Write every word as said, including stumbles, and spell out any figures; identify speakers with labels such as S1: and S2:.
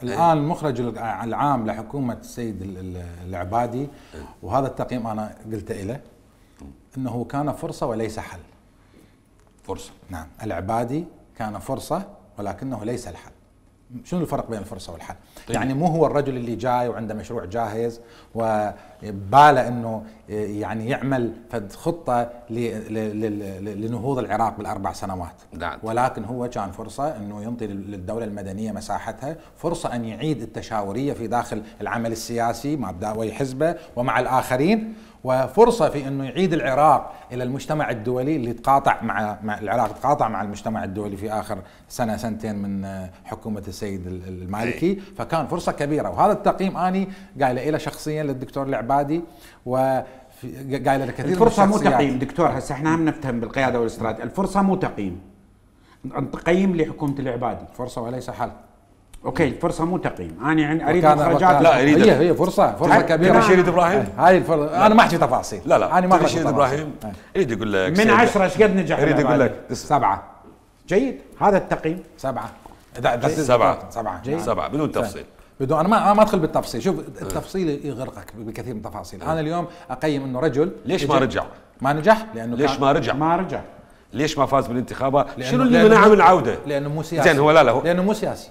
S1: الآن المخرج العام لحكومة السيد العبادي، وهذا التقييم أنا قلت له أنه كان فرصة وليس حل.
S2: فرصة،
S1: نعم، العبادي كان فرصة ولكنه ليس الحل. شنو الفرق بين الفرصة والحل؟ طيب. يعني مو هو الرجل اللي جاي وعنده مشروع جاهز وباله انه يعني يعمل فد خطة لنهوض العراق بالاربع سنوات،
S2: نعم.
S1: ولكن هو كان فرصة انه ينطي للدولة المدنية مساحتها، فرصة ان يعيد التشاورية في داخل العمل السياسي مع دعوي حزبه ومع الاخرين، وفرصة في انه يعيد العراق الى المجتمع الدولي اللي تقاطع مع, مع العراق تقاطع مع المجتمع الدولي في اخر سنة سنتين من حكومة السيد المالكي، فكان فرصة كبيرة. وهذا التقييم اني قايله له شخصيا للدكتور العبادي، و قايله لكثير
S3: الفرصة مو تقييم دكتور. هسه احنا هم نفتهم بالقيادة والاستراتيجية، الفرصة مو تقييم، تقييم لحكومة العبادي
S1: فرصة وليس حل.
S3: اوكي، الفرصه مو تقييم، انا اريد مخرجات.
S1: لا اريد هي هي فرصه فرصه كبيره.
S2: رشيد ابراهيم
S1: هاي الفرصه، انا ما احكي تفاصيل.
S2: لا لا
S1: انا ما
S2: رشيد ابراهيم يريد يقول لك
S3: من عشرة ايش قد نجح؟
S2: يريد يقول لك
S3: سبعة. جيد، هذا التقييم
S1: سبعة.
S2: سبعة
S1: سبعة
S2: جيد. سبعة بدون تفصيل.
S1: بدون انا ما ما ادخل بالتفصيل، شوف التفصيل يغرقك بكثير من التفاصيل. انا اليوم اقيم انه رجل
S2: ليش ما رجع؟
S1: ما نجح لانه
S2: ليش ما رجع؟
S3: ما رجع
S2: ليش ما فاز بالانتخابات؟ شنو اللي منعه من العوده؟
S1: لانه مو سياسي.
S2: زين هو لا لا هو
S1: لانه مو سياسي.